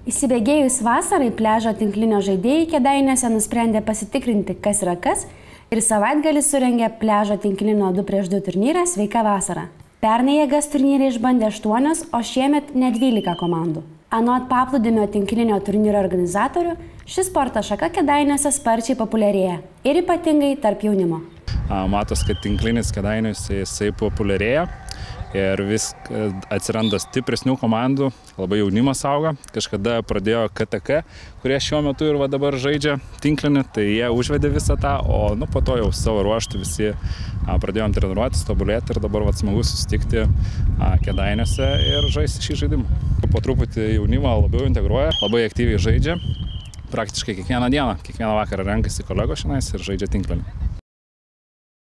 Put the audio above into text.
Įsibėgėjus vasarai, pliažo tinklinio žaidėjai Kėdainiuose nusprendė pasitikrinti, kas yra kas, ir savaitgalį surengė pliažo tinklinio 2x2 turnyrą Sveika vasara. Pernai jėgas turnyre išbandė 8, o šiemet net 12 komandų. Anot paplūdimio tinklinio turnyro organizatorių, ši sporto šaka Kėdainiuose sparčiai populiarėja ir ypatingai tarp jaunimo. Matos, kad tinklinis Kėdainiuose jisai populiarėja. Ir vis atsiranda stipresnių komandų, labai jaunimas auga. Kažkada pradėjo KTK, kurie šiuo metu ir dabar žaidžia tinklinį, tai jie užvedė visą tą, o po to jau savo ruoštų visi pradėjom treniruotis, tobulėti ir dabar smagu susitikti Kėdainiuose ir žaisti šį žaidimą. Po truputį jaunimą labiau integruoja, labai aktyviai žaidžia, praktiškai kiekvieną dieną, kiekvieną vakarą renkasi kolegos šiandien ir žaidžia tinklinį.